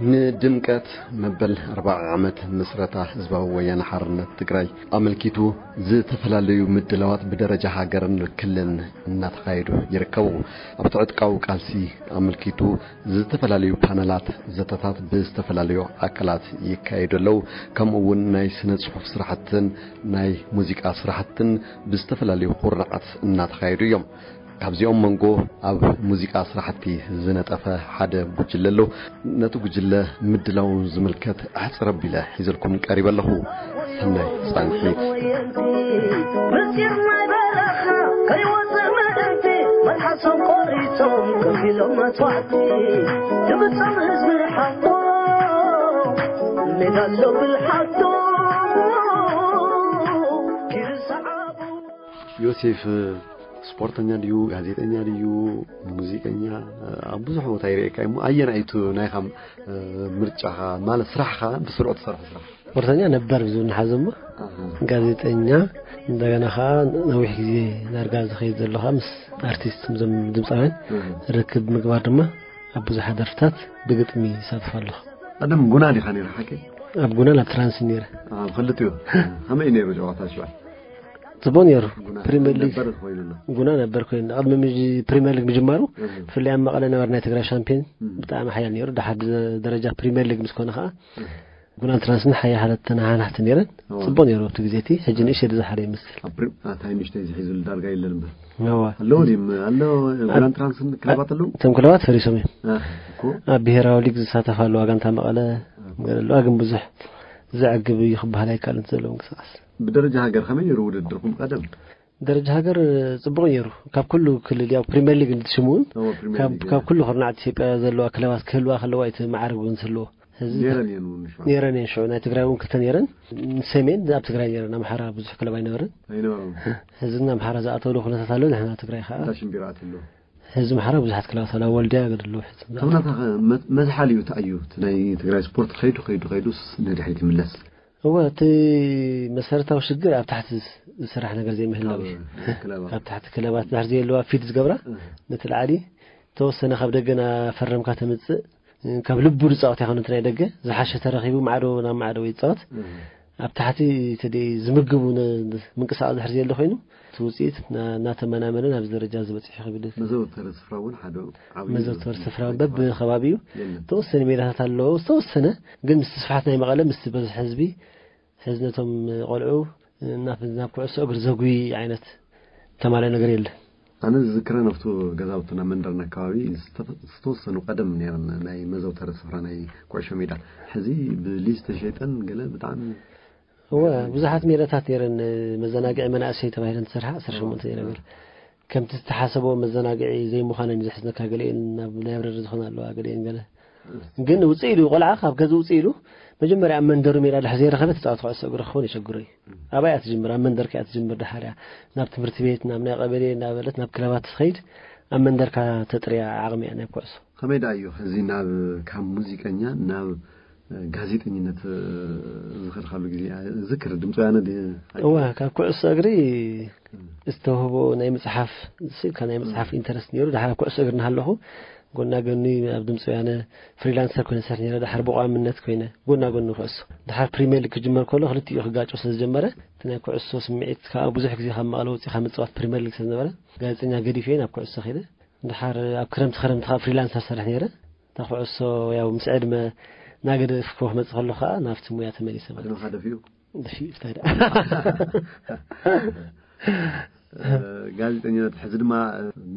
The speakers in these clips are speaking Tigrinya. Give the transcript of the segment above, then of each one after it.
ንድምቀት መበል ኣርብዓ ዓመት ምስረታ ህዝባዊ ወያነ ሓርነት ትግራይ ኣመልኪቱ ዝተፈላለዩ ምድላዋት ብደረጃ ሃገርን ክልልን እናተኻየዱ ይርከቡ። ኣብቲ ዕጥቃዊ ቃልሲ ኣመልኪቱ ዝተፈላለዩ ፓነላት ዘተታት ብዝተፈላለዩ ኣካላት ይካየዱ ኣለዉ። ከምኡ እውን ናይ ስነ ጽሑፍ ስራሕትን ናይ ሙዚቃ ስራሕትን ብዝተፈላለዩ ኩርናዓት እናተኻየዱ እዮም። ካብዚኦም መንጎ ኣብ ሙዚቃ ስራሕቲ ዝነጠፈ ሓደ ጉጅለ ኣሎ። ነቲ ጉጅለ ምድላው ዝምልከት ኣሕጽር ኣቢለ ሒዘልኩም ቀሪበ ኣለኹ። ሰናይ ጻንሒት። ምስጢር ናይ በረኻ ከይወፅእ ምእንቲ መልሓሶም ቆሪፆም ከፊሎም መስዋዕቲ ንምፅም ህዝቢ ሓቆ ሜዳ ኣሎ ብልሓቶ ይርሰዓቡ። ዮሴፍ ስፖርተኛ ድዩ፣ ጋዜጠኛ ድዩ፣ ሙዚቀኛ? ኣብ ብዙሕ ቦታ ይርእየካ እሞ ኣየናይ እዩ ናይኻ ምርጫኻ? ማለት ስራሕኻ ብስሩዕ ትሰርሖ ስራሕ? ስፖርተኛ ነበር ብዙ ንሓዘሞ፣ ጋዜጠኛ፣ እንደገና ከዓ ነዊሕ ግዜ ዳርጋ ዝኸይድ ዘሎ ከዓ ምስ ኣርቲስት፣ ምስዞም ድምፃውያን ርክብ ምግባር ድማ ኣብ ብዙሓት ደርፍታት ብግጥሚ ይሳተፍ ኣለኹ። ቀደም ጉና ዲኻ ነይረ ሓቂ? ኣብ ጉናን ኣብ ትራንስ ነይረ። ኣብ ክልቲኡ ከመይ ነይሩ ጨዋታ ሽዋ? ጽቡቅ ነይሩ። ጉና ፕሪምየር ሊግ ነበር ኮይኑና። ጉና ነበር ኮይኑ ቅድሚ ምጅ-፣ ፕሪምየር ሊግ ምጅማሩ እህ። ብፍላይ ኣብ መቐለ ነበር ናይ ትግራይ ሻምፒዮን እህ። ብጣዕሚ ሓያል ነይሩ። ድሓር ደ-፣ ደረጃ ፕሪምየር ሊግ ምስ ኮነ ከዓ እህ። ጉናን ትራንስን ሓያ ሓለት ተናሓናሕቲ ነይረን። እዋ። ጽቡቅ ነይሩ ኣብቲ ግዜ እቲ። ሕጂ ንእሽተይ ዝሓረ ይመስል። ኣብ ፕሪ-፣ ኣታ ንእሽተይ ዝሒዙ ዳርጋ የለን እምበር። እዋ። ኣለዉ ድም-፣ ኣለዉ ጉናን ትራንስን ክለባት ኣለዉ? እቶም ክለባት ፈሪሶም እዮም። ኣህ፣ እኮ። ኣብ ብሄራዊ ሊግ ዝሳተፋ ኣለዋ ጋንታ መቐለ ገለ ኣለዋ፣ ግን ብዙሕ ዘዕግብ እዩ ክበሃል ኣይከኣልን ዘሎ ምንቅስቃስ። ብደረጃ ሃገር ከመይ ነይሩ ውድድርኩም ቀደም? ደረጃ ሃገር ጽቡቕ ነይሩ። ካብ ኩሉ ክልል፣ ያው ፕሪምየር ሊግ እንትሽሙ እውን፣ እዎ፣ ፕሪምየር ካብ፣ ሊግ፣ ካብ እዎ። ኩሉ ኩርናዓት ኢትዮጵያ ዘለዋ ክለባት ክህልዋ ከለዋ እቲ መዓርግ እውን ዝህልዎ። ሕዚ ነይረን እየን እውን ሽዑ። ነይረን እየን ሽዑ። ናይ ትግራይ እውን ክልተ ነይረን። ሰሜን ኣብ ትግራይ ነይረን፣ ኣምሓራ ብዙሕ ክለብ ኣይነበረን። ኣይነበረን። ሕዚ ግን ኣምሓራ ዝኣተወሉ ኩነታት ኣሎ፣ ንሕና ትግራይ ከዓ እንዳ ሽምቢራ ኣትሎ። ሕዚ ኣምሓራ ብዙሓት ክለባት ኣለዋ፣ ወልድያ ገድሎ። ሕዚ ከም ናታ መ-፣ መዝሓል እዩ፣ እንታይ እዩ? እቲ ናይ ትግራይ ስፖርት ከይዱ፣ ከይዱ፣ ከይዱስ ንድሕሪት ይምለስ። እወ፣ እቲ መሰረታዊ ሽግር ኣብ ታሕቲ ዝስ-፣ ዝስራሕ ነገር ዘይምህላው እዩ። ካብ ክለባት። ኣብ ታሕቲ ክለባት ድሕር ዘየለዋ ፊድ ዝገብራ፣ እህ። ነቲ ላዕሊ ተወሰነ ካብ ደገ እናፈረምካ ተምጽእ፣ ካብ ልቡ ዝጻወት ኣይኮነ፣ እቲ ናይ ደገ ዝሓሸ ተረኺቡ ማዕዶ ናብ ማዕዶ ይጻወት። እህ። ኣብ ታሕቲ እቲ ደይ ዝምግቡ ነ-፣ ምንቅስቃስ ድሕር ዘየለ ኮይኑ፣ እቲ ውጽኢት እና-፣ እናተመናመነ ናብዚ ደረጃ ዝበጽሕ ይኽብል። መዘውተሪ ስፍራ እውን ሓደ ዓብዪ መዘውተሪ ስፍራ በብከባቢኡ የለን። ተወሰነ ሜዳታት ኣለዎ፣ ዝተወሰነ ግን ምስቲ ስፍሓት ናይ መቐለ፣ ምስቲ በዝሒ ህዝቢ፣ ሕዚ ነቶም ቆልዑ ናብ፣ ናብ ኩዕሶ እግሪ ዘጉይ ዓይነት ተማልኦ ነገር የለን። ኣነ ዝዝክረ ኣብቱ ገዛውትና መንደርና ኣከባቢ ዝተፈ-፣ ዝተወሰኑ ቀደም ነይረን ናይ መዘውተሪ ስፍራ ናይ ኩዕሾ ሜዳ። ሕዚ ብሊዝ ተሸይጠን ገለ ብጣዕሚ እወ፣ ብዙሓት ሜዳታት ነይረን፣ መዘናግዒ መናእሰይ ተባሂለን ዝሰርሓ ዓሰርተ ሸሞንተ እወ። ነገር። ከምቲ ዝተሓሰቦ መዘናግዒ ዘይምዃነን እዩ ዘሕዝነካ። ገሊአን ናብ ላይብረሪ ዝኾና ኣለዋ፣ ገሊአን ገለ። እወ። ግን ውፅእ ኢሉ፣ ቆልዓ ካብ ገዝ ውፅእ ኢሉ፣ መጀመርያ ኣብ መንደሩ ሜዳ ድሕር ዘይረኸበ ተፃዋቲ ኩዕሶ እግሪ ክኸውን የሸግሮ እዩ። እወ። ኣባይ እያ ትጅምር፣ ኣብ መንደርካ እያ ትጅምር፣ ድሓር እያ ናብ ትምህርቲ ቤት፣ ናብ ናይ ቀበሌ እናበለት ናብ ክለባት ትኸይድ፣ ኣብ መንደርካ ተጥርያ ዓቕሚ እያ ናይ ኩዕሶ። ከመይ ደኣ እዩ ሕዚ ናብ፣ ካብ ሙዚቀኛ ናብ ጋዜጠኝነት ዝኸድካሉ ግዜ ዝክር ድምፂ ወያነ ድ-? እወ፣ ካብ ኩዕሶ እግሪ ዝተውህቦ ናይ ምፅሓፍ፣ ስኢልካ ናይ ምፅሓፍ ኢንተረስት ነይሩ። ድሓር ኣብ ኩዕሶ እግሪ እናሃለኹ ጎና ጎኒ ኣብ ድምፂ ወያነ ፍሪላንሰር ኮይነ ዝሰርሕ ነይረ። ድሓር ብቋምነት ኮይነ ጎና ጎኒ ኩዕሶ። ድሓር ፕሪምየር ሊግ ክጅመር ከሎ ክልቲኡ ክጋጮ ስለ ዝጀመረ፣ እቲ ናይ ኩዕሶ ስምዒት ከዓ ብዙሕ ግዜ ካብ መቐለ ወፂኻ ምፅዋት ፕሪምየር ሊግ ስለ ዝነበረ፣ ጋዜጠኛ ገዲፈ ናብ ኩዕሶ ከይደ። ድሓር ኣብ ክረምቲ ክረምቲ ከዓ ፍሪላንሰር ሰርሕ ነይረ። እታ ኩዕሶ ያው ምስ ዕድመ እናገደፍኩ ክመፅእ ከሎ ከዓ ናብቲ ሙያ ተመሊሰ ማለት እዩ። ዕድመኻ ደፊኡ? ደፊኡ፣ እንታይ ደኣ። እ፣ ጋዜጠኝነት፣ ሕዚ ድማ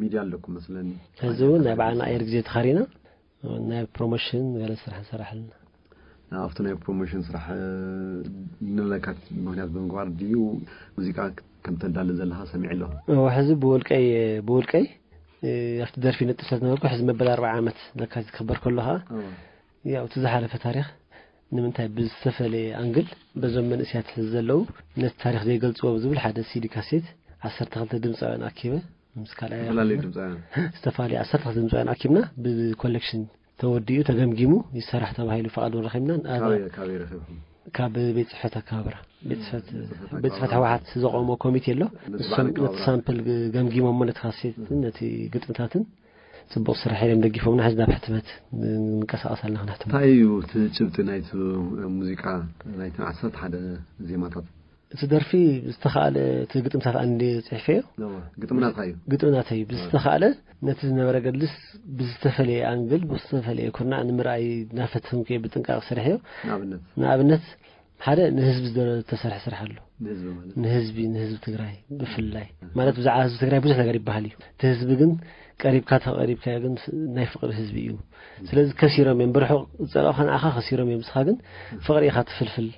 ሚድያ ኣለኩም መስለኒ። ሕዚ እውን ናይ በዓልና ኣየር ግዜ ተኻሪና ናይ ፕሮሞሽን ገለ ስራሕ ንሰርሕ ኣለና። ኣብቲ ናይ ፕሮሞሽን ስራሕ፣ እ፣ ንለካት ምኽንያት ብምግባር ድዩ ሙዚቃ ከም ተዳሊ ዘለኻ ሰሚዐ ኣለኹ? እወ፣ ሕዚ ብውልቀይ፣ ብውልቀይ፣ እ፣ ኣብቲ ደርፊ ነጥፍ ስለ ዝነበርኩ፣ ሕዚ መበል ኣርብዓ ዓመት ለካቲት ክኽበር ከሎ ኸዓ፣ እወ። ያው፣ እቲ ዝሓለፈ ታሪኽ ንምንታይ ብዝተፈለየ ኣንግል በዞም መንእሰያት ሕዚ ዘለዉ ነቲ ታሪኽ ዘይገልጽዎ ብዝብል ሓደ ሲዲ ካሴት ዓሰርተ ክልተ ድምጻውያን ኣኪበ፣ ምስ ካልኣይ ዝተፈላለዩ ድምጻውያን። ዝተፈላለዩ ዓሰርተ ክልተ ድምጻውያን ኣኪብና ብኮሌክሽን ተወዲኡ ተገምጊሙ ይሰራሕ ተባሂሉ ፍቓድ እውን ረኺብና። ኣነ ካበይ፣ ካበይ ረኺብኩም? ካብ ቤት ጽሕፈት ኣከባብራ። ቤት ጽሕፈት፣ ቤት ጽሕፈት ቤት ጽሕፈት ኣከባብራ። ህወሓት ዘቆሞ ኮሚቴ ኣሎ። ነቲ ንሶም በዓል ነቲ ኣከባብራ። ሳምፕል ግ-፣ ገምጊሞሞ ነቲ ካሴትን ነቲ ግጥምታትን ጽቡቕ ስራሕ እዮም ደጊፎምና። ሕዚ ናብ ሕትመት ንንቀሳቐስ ኣለና፣ ክንሕትም። እንታይ እዩ እቲ ጭብጢ ናይቲ ሙዚቃ፣ ናይቲ ዓሰርተ ሓደ ዜማታት? እቲ ደርፊ ዝተኻእለ፣ እቲ ግጥምታት ኣንዲ ጽሒፈዮ። እዎ፣ ግጥምናትካ እዩ። ግጥምናት እዩ። ብዝተኻእለ ነቲ ዝነበረ ገድልስ ብዝተፈለየ ኣንግል፣ ብዝተፈለየ ኩርናዕ ንምርኣይ እናፈተንኩ እየ ብጥንቃቕ ሰሪሐዮ። ንኣብነት? ንኣብነት፣ ሓደ ንህዝቢ ዝተሰርሐ ስራሕ ኣሎ። ንህዝቢ ማለት? ንህዝቢ፣ ንህዝቢ ትግራይ ብፍላይ። ማለት ብዛዕባ ህዝቢ ትግራይ ብዙሕ ነገር ይበሃል እዩ። እቲ ህዝቢ ግን ቀሪብካ ተቐሪብካዮ ግን ስ-፣ ናይ ፍቕሪ ህዝቢ እዩ። ስለዚ ከሲሮም እዮም። ብርሑቕ ዝጸላእኻ ንኣኻ ከሲሮም እዮም። ንስኻ ግን ፍቕሪ ኢኻ ትፍልፍል።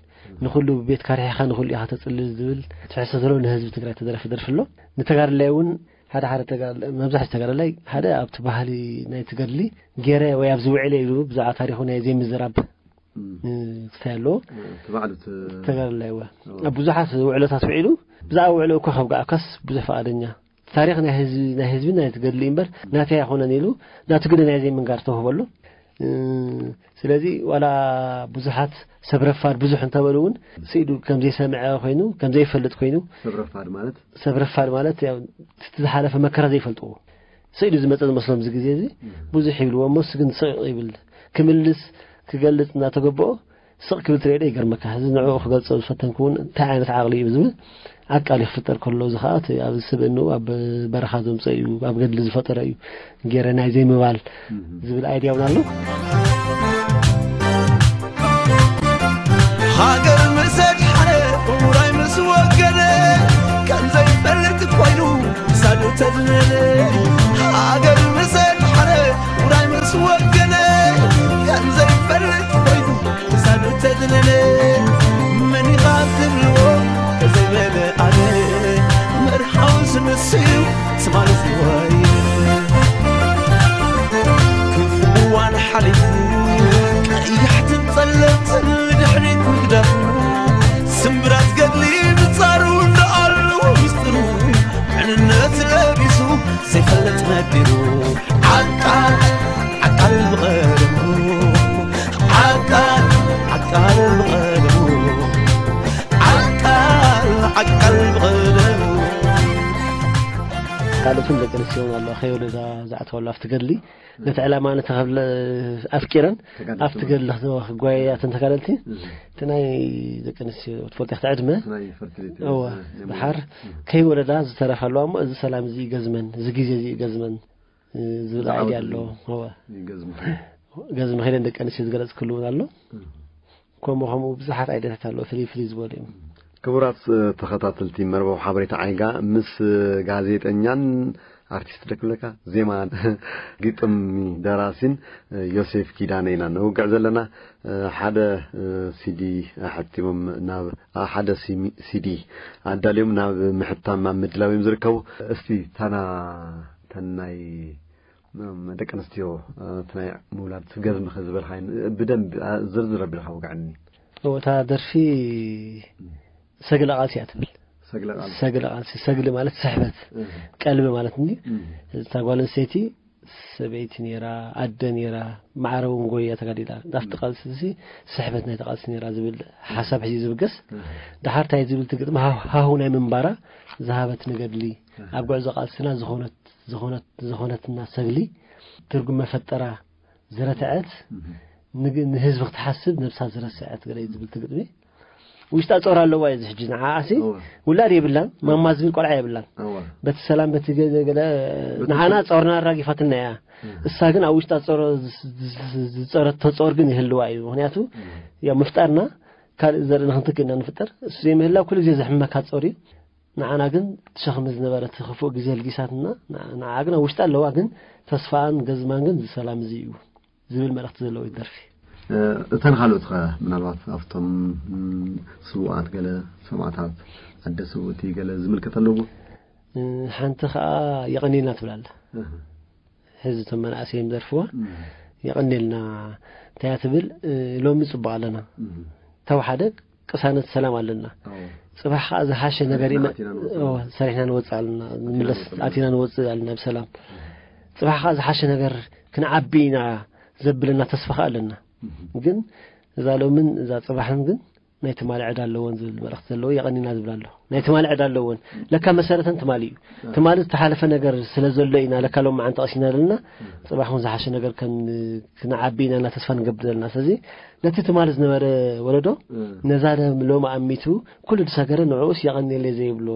ንኹሉ ቤትካ ርሒኻ ንኹሉ ኢኻ ተጽልል ዝብል ትሕዝቶ ዘለዎ ንህዝቢ ትግራይ ተደረፈ ደርፊ ኣሎ። ንተጋድላይ እውን ሓደ ሓደ ተጋድላይ፣ መብዛሕትኡ ተጋድላይ ሓደ ኣብቲ ባህሊ ናይ ትገድሊ ገይረ ወይ ኣብዚ ውዕለ ኢሉ ብዛዕባ ታሪኹ ናይ ዘይምዝራብ እ፣ ክስታይ ኣለዎ። እቲ ባዕሉ እቲ ተጋዳላይ እወ። እወ። ኣብ ብዙሓት ውዕሎታት ውዒሉ፣ ብዛዕባ ውዕሎ እኳ ከብቃዓካስ ብዙሕ ፈቓደኛ። ታሪኽ ናይ ህዝቢ፣ ናይ ህዝቢ ናይ ትገድሊ እምበር ናተይ ኣይኮነን ኢሉ፣ ናቱ ግደ ናይ ዘይምንጋር ተውህቦ ኣሎ። እ፣ ስለዚ ዋላ ብዙሓት ሰብ ረፋድ ብዙሕ እንተበሉ እውን፣ ስኢዱ ከም ዘይሰምዐ ኮይኑ፣ ከም ዘይፈልጥ ኮይኑ፣ ሰብ ረፋድ ማለት? ሰብ ረፋድ ማለት ያው እቲ ዝሓለፈ መከራ ዘይፈልጥዎ። ስኢዱ ዝመጸ ዝመስሎም እዚ ግዜ እዚ እም። ብዙሕ ይብልዎ እሞ፣ እሱ ግን ስቕ ይብል። ክምልስ፣ ክገልጽ እናተገበኦ ስቕ ክብል ትርእዮ ዶ ይገርመካ። እዚ ንዕኡ ክገልጾ ዝፈተንኩ እውን እንታይ ዓይነት ዓቕሊ እዩ ዝብል ዓቃሊ ክፍጠር ከሎ፣ እዚ ኸኣ እቲ ኣብ ስብእንኡ ኣብ በረኻ ዘምጸ እዩ፣ ኣብ ገድሊ ዝፈጠረ እዩ። ገይረ ናይ ዘይምባል እም። ዝብል ኣይድያ እውን ኣሎ። ሃገር ምስ ኣድሓነ፣ ውራይ ምስ ወገነ፣ ከም ዘይፈልጥ ኮይኑ ክሳዱ ተድነነ። ሃገር ምስ ኣድሓነ፣ ውራይ ምስ ወገነ፣ ከም ዘይፈልጥ ኮይኑ ክሳዱ ተድነነ። መን ኢኻ ትብልዎ ተዘይበለ ኣነ፣ መርሓውስ ንሱ እዩ ትማሊ ዝወይ። ክፉእ እዋን ሓሊፉ፣ ቀያሕትን ጸለምትን ንድሕሪት ምግዳፉ፣ ስምብራት ገድሊ ንጻሩ እንዳኣሉ ሚስጥሩ፣ ዕንነት ለቢሱ ዘይፈልጥ ነዲሩ። ዓቃል፣ ዓቃል ብቐለሙ፣ ዓቃል፣ ዓቃል ብቐለሙ፣ ዓቃል፣ ዓቃል ብቐለሙ። ካልኦትን ደቂ ኣንስትዮ እውን ኣለዋ፣ ከይወለዳ ዝኣተዋሉ ኣብቲ ገድሊ። ነቲ ዕላማ ነቲ ከብለ-፣ ኣፍቂረን ተጋደልቲ ኣብቲ ማለት ገድሊ ክጓየያ እተን ተጋደልቲ። እም። እቲ ናይ ደቂ ኣንስትዮ ትፈልጦ ኢኻ፣ ዕድመ። ናይ ፈርቲሊቲ እወ፣ ናይ ድሓር እም። ከይወለዳ ዝተረፋ ኣለዋ እሞ፣ እዚ ሰላም እዚ ይገዝመን፣ እዚ ግዜ እዚ ይገዝመን፣ እ፣ ዝብል ዝዓወት ኣይድያ ኣሎ። እወ። ይገዝመ። ገዝመ ከይደን ደቂ ኣንስትዮ ዝገለጽክሉ እውን ኣሎ። እም። ከምኡ ከምኡ ብዙሓት ኣይድያታት ኣለዉ፣ ፍልይ ፍልይ ዝበሉ እዮም። ክቡራት፣ እ፣ ተኸታተልቲ መርበብ ሓበሬታ ዓይጋ፣ ምስ፣ እ፣ ጋዜጠኛን ኣርቲስት ደክብለካ ዜማ ግጥም ደራሲን፣ እ፣ ዮሴፍ ኪዳነ ኢና ነውግዕ ዘለና። እ፣ ሓደ፣ እ፣ ሲዲ ኣሐቲሞም ናብ፣ ኣ፣ ሓደ ሲሚ-፣ ሲዲ ኣዳልዮም ናብ ምሕታም ኣብ ምድላው እዮም ዝርከቡ። እስቲ ታና ተናይ ም-፣ ደቂ ኣንስትዮ፣ እ፣ እቲ ናይ ምውላድ ገዝምኸ ዝበልካዮ ብደንብ፣ እ፣ ዝርዝር ኣቢልካ ውግዐኒ። እወ፣ እታ ደርፊ ሰግለ ቃልሲ እያ ትብል። ሰግለ ቃልሲ። ሰግለ ቃልሲ፣ ሰግሊ ማለት ስሕበት፣ እህ። ቀልቢ ማለት እንዲ። እህ። እታ ጓል ኣንስተይቲ ሰበይቲ ነይራ፣ ኣደ ነይራ፣ ማዕረ እውን ጎያ ተጋዲላ። ናብቲ እህ። ቃልሲ እዚ ስሕበት ናይቲ ቃልሲ ነይራ ዝብል ሓሳብ ሒዙ ዝብገስ። እህ። ደሓር እንታይ ዝብል ትግጥም ሃሁ-፣ ሃሁ ናይ ምንባራ ዝሃበት ንገድሊ። እህ። ኣብ ጉዕዞ ቃልስና ዝኾነት፣ ዝኾነት፣ ዝኾነትና ሰግሊ ትርጉም መፈጠራ ዝረትዐት፣ እህ። ንግ-፣ ንህዝቢ ክትሓስብ ነብሳ ዝረስዐት ገለ እዩ ዝብል ትግጥሚ። ውሽጣ ጾር ኣለዋ እዩ እዚ ሕጂ። ንዓኣሲ እወ። ውላድ የብላን፣ ማማ ዝብል ቆልዓ የብላን። እወ። በቲ ሰላም፣ በቲ ገ-፣ ገለ በቲ ንዓና ሰ- ጾርና ኣራጊፋትና እያ። እህ። እሳ ግን ኣብ ውሽጣ ጾር ዝ-፣ ዝ-፣ ዝ-፣ ዝጸረቶ ጾር ግን ይህልዋ እዩ። ምኽንያቱ እህ። ያው ምፍጣርና ካልእ ዘርኢ ንኽንትክእ ኢና ንፍጠር። እሱ ዘይምህላው ኩሉ ግዜ ዘሕመካ ጾር እዩ። ንዓና ግን ትሸኽሚ ዝነበረት ክፉእ ግዜ ልጊሳትና፣ ንዓ-፣ ንዓኣ ግን ኣብ ውሽጣ ኣለዋ፣ ግን ተስፋኣን ገዝማን ግን እዚ ሰላም እዚ እዩ ዝብል መልእኽቲ ዘለዎ እዩ ደርፊ። እ፣ እተን ካልኦት ኸ ምናልባት ኣብቶም፣ ም፣ ስዉኣት ገለ ሰማእታት፣ ኣደ ስውእቲ ገለ ዝምልከት ኣለዎ? እ፣ ሓንቲ ኸኣ የቐንየልና ትብል ኣላ። እህ። ሕዚ እቶም መናእሰይ እዮም ዝደርፍዋ። እህ። የቐንየልና እንታይ እያ ትብል፣ እ፣ ሎሚ ጽቡቕ ኣለና። እህ። ተወሓደ ቅሳነት ሰላም ኣለና። ኣዎ። ጽባሕ ኸኣ ዝሓሸ ነገር ሰሪሕና ይመ-፣ ኣቲና ንወጽእ። ኣዎ፣ ሰሪሕና ንወጽእ ኣለና። ኣቲና ንምለስ፣ ንወጽእ ኣለና። ኣቲና ንወጽእ ኣለና ብሰላም። እህ። ጽባሕ ኸኣ ዝሓሸ ነገር ክንዓቢ ኢና ዘብለና ተስፋ ኸኣ ኣለና። እህ። ግን እዛ ሎምን እዛ ጽባሕን ግን ናይ ትማሊ ዕዳ ኣለወን ዝብል መልእኽቲ ዘለዎ የቐኒና ዝብል ኣሎ። ናይ ትማሊ ዕዳ ኣለወን። ለካ መሰረተን ትማሊ እዩ። ትማሊ ዝተሓለፈ ነገር ስለ ዘሎ ኢና ለካ ሎም መዓንተ ቀሲና ዘለና። ጽባሕ እውን ዝሓሸ ነገር ከም ክንዓቢ ኢና እና ተስፋ ንገብር ዘለና። ስለዚ ነቲ ትማሊ ዝነበረ ወለዶ ነዛ ሎም ኣሚቱ ኩሉ ዝሰገረ ንዕኡስ የቐኒለይ ዘይብሎ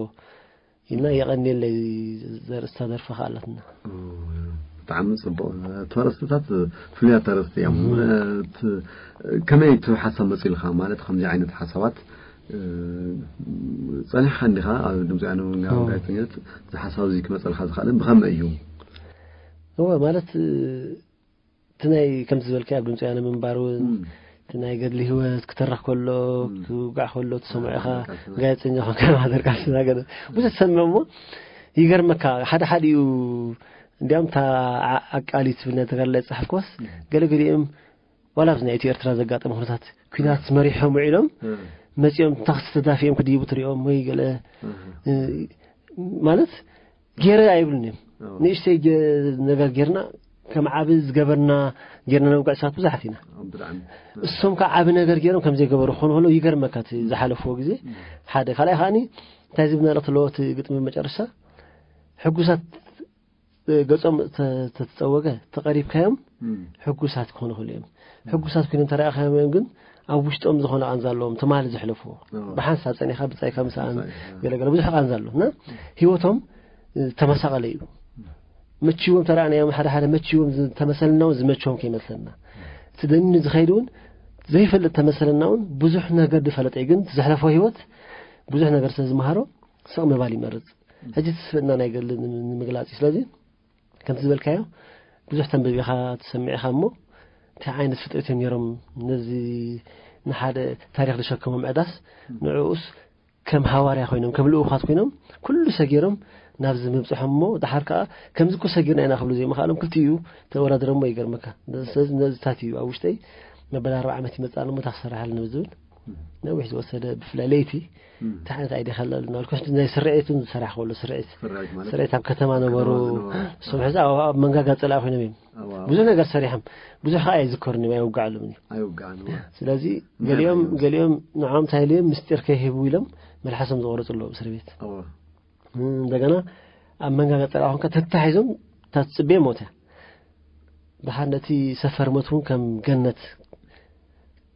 ኢልና የቐኒለይ ዘርእስታ ደርፊ ከኣላትና። ብጣዕሚ ጽቡቕ። ተረስትታት ፍሉያት ተረስቲ እዮም። ከመይ እቲ ሓሳብ መፂልካ ማለት ከምዚ ዓይነት ሓሳባት? ጸኒሕካ እንዲኻ ኣብ ድምፂ ኣነ ጋዜጠኛት እዚ ሓሳብ እዚ ክመፀልካ ዝኽእል ብኸመይ እዩ? እወ ማለት እቲ ናይ ከምዚ ዝበልካ ኣብ ድምፂ ኣነ ምንባር እውን እቲ ናይ ገድሊ ህይወት ክተረኽ ከሎ ክውጋዕ ከሎ ትሰምዖ ኢኻ። ጋዜጠኛ ኮንካ ማህደር ቃልስና ገለ ብዙሕ ትሰምዕ እሞ ይገርመካ። ሓደ ሓደ እዩ እንዲያም እታ ኣቃሊት ብና ተጋድላይ ዝፀሓፍክዋስ ገለ ገሊኦም ዋላ ኣብዚ ናይ ኢትዮ ኤርትራ ዘጋጠመ ኩነታት ኩናት መሪሖም ውዒሎም መፂኦም ታክሲ ተዳፊኦም ክድይቡ ትሪኦም ወይ ገለ ማለት ገይረ ኣይብሉን እዮም። ንእሽተይ ነገር ጌርና ከም ዓቢ ዝገበርና ጌርና ነውግዕ ሰባት ብዙሓት ኢና። እሶም ከዓ ዓቢ ነገር ገይሮም ከም ዘይገበሩ ክኾኑ ከለዉ ይገርመካ እቲ ዝሓለፍዎ ግዜ ሓደ። ካልኣይ ከዓኒ እንታይ ዝብል መልእኽቲ ኣለዎ እቲ ግጥሚ መጨረሻ ሕጉሳት ገጾም ተተጸወገ ተቐሪብካዮም ሕጉሳት ክኾኑ ክእሉ እዮም። ሕጉሳት ኮይኖም ተረኣኻዮም እዮም ግን ኣብ ውሽጦም ዝኾነ ቃንዛ ኣለዎም ትማሊ ዘሕለፍዎ። ብሓንሳብ ጸኒኻ ብጻይካ ምሳኣን ገለገለ ብዙሕ ቃንዛ ኣሎ እና ህይወቶም ዝተመሳቐለ እዩ። መችዎም ተረኣናዮም ሓደ ሓደ መችዎም ዝተመሰልና እውን ዝመችዎም ከይመስለና እቲ ደኒኑ ዝኸይድ እውን ዘይፈልጥ ተመሰለና እውን ብዙሕ ነገር ዝፈለጠ እዩ ግን ዘሕለፎ ህይወት ብዙሕ ነገር ስለ ዝመሃሮ ስቕ ምባል ይመርጽ። ሕጂ ትስፍእና ናይ ገድሊ ንምግላጽ እዩ። ስለዚ ከምቲ ዝበልካዮ ብዙሕ ተንብብ ኢኻ ትሰምዕ ኢኻ እሞ እንታይ ዓይነት ፍጥረት እዮም ነይሮም ነዚ ንሓደ ታሪኽ ዝሸከሞም ዕዳስ ንዕኡስ ከም ሃዋርያ ኮይኖም ከም ልኡኻት ኮይኖም ኩሉ ሰጊሮም ናብዚ ምብፅሖም እሞ ድሓር ከዓ ከምዚ እኮ ሰጊርና ኢና ክብሉ ዘይምኽኣሎም ክልቲኡ ተወዳድረሞ ይገርመካ። ስለዚ ነዚታት እዩ ኣብ ውሽጠይ መበል ኣርባ ዓመት ይመፅእ ኣሎ እሞ እታ ክሰርሓልና ዝብል ነዊሕ ዝወሰደ ብፍላይ ለይቲ እንታይ ዓይነት ኣይዲ ከለሉ ናልኮስ ናይ ስርዒት እውን ዝሰራሕ ከሎ ስርዒት ስርዒት ኣብ ከተማ ነበሩ። እሶም ሕዚ ኣብ መንጋጋ ፀላኢ ኮይኖም እዮም ብዙሕ ነገር ሰሪሖም ብዙሕ ከዓ ኣይዝከሩን እዮም ኣይውጋዕሉም። ስለዚ ገሊኦም ገሊኦም ንዖም እንታይ ኢሉ ምስጢር ከይህቡ ኢሎም መልሓሶም ዝቆረፁ ኣለዉ እስር ቤት። እንደገና ኣብ መንጋጋ ፀላኢ ኮንካ ተታሒዞም ታትፅቤ ሞተ። ድሓር ነቲ ሰፈር ሞት እውን ከም ገነት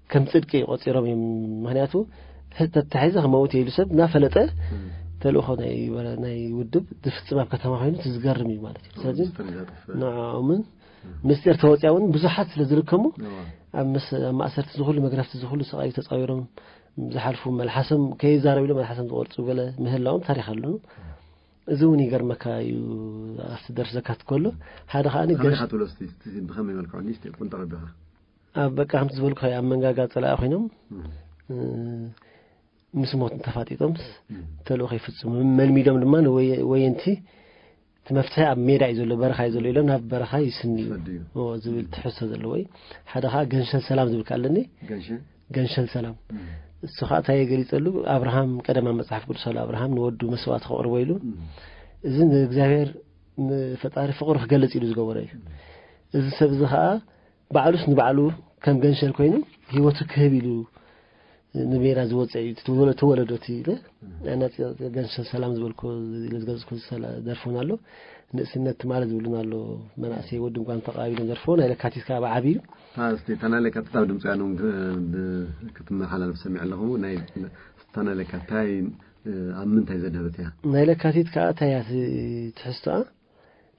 ከም ጽድቂ ቆጺሮም እዮም። ምክንያቱ ተታሒዘ ክመውት ኢሉ ሰብ እናፈለጠ ተልእኾ ናይ ውድብ ዝፍጽም ኣብ ከተማ ኮይኑ ዝገርም እዩ ማለት እዩ። ስለዚ ንዕኦምን ምስጢር ተወፅያ እውን ብዙሓት ስለ ዝርከሙ ኣብ ማእሰርቲ ዝኩሉ መግረፍቲ ዝኩሉ ሰቃዩ ተፃዊሮም ዝሓልፉ መልሓሶም ከይዛረብ ኢሎም መልሓሶም ዝቆርፁ ገለ ምህላዎም ታሪክ ኣለኑ። እዚ እውን ይገርመካ እዩ። ኣብቲ ደርሲ ዘካት ከሎ ሓደ ከዓ ከመይ ኢኻ ትብሎ እስቲ ብኸመይ መልክዑ ንእሽተይ ቁንጠር ኣቢኻ ኣብ በቃ ከምቲ ዝበልኩ ኣብ መንጋጋ ፀላኢ ኮይኖም ምስ ሞት ተፋጢጦምስ ተልእኾ ይፍፅሙ። መልሚዶም ድማ ንወየንቲ እቲ መፍትሒ ኣብ ሜዳ እዩ ዘሎ በረኻ እዩ ዘሎ ኢሎም ናብ በረኻ ይስንዩ ዝብል ትሕዝቶ ዘለዎ እዩ። ሓደ ከዓ ገንሸል ሰላም ዝብል ኣለኒ። ገንሸል ሰላም እሱ ከዓ እንታይ ገሊፀሉ ኣብርሃም ቀደማ መፅሓፍ ቅዱስ ኣሎ ኣብርሃም ንወዱ መስዋዕቲ ከቕርቦ ኢሉ እዚ ንእግዚኣብሔር ንፈጣሪ ፍቕሪ ክገልፅ ኢሉ ዝገበሮ እዩ። እዚ ሰብ እዚ ከዓ ባዕሉስ ንባዕሉ ከም ገንሸል ኮይኑ ህይወቱ ክህብ ኢሉ ንሜዳ ዝወፀ እዩ። ተወለዶ እቲ ገንሸል ሰላም ዝበልኩ ዝገለፅኩ ደርፎን ኣሎ። ንእስነት ትማሊ ዝብሉን ኣሎ። መናእሰይ ወዲ እንኳን ተቃቢሎም ደርፎ ናይ ለካቲት ከዓ ብዓብዩ እስቲ እታ ናይ ለካቲት ኣብ ድምፂ ያኖም ክትመሓላለፍ ሰሚዕ ኣለኹ። እታ ናይ ለካቲት እንታይ ኣብ ምንታይ ዘድህበት እያ? ናይ ለካቲት ከዓ እንታይ እያ ትሕዝቶኣ?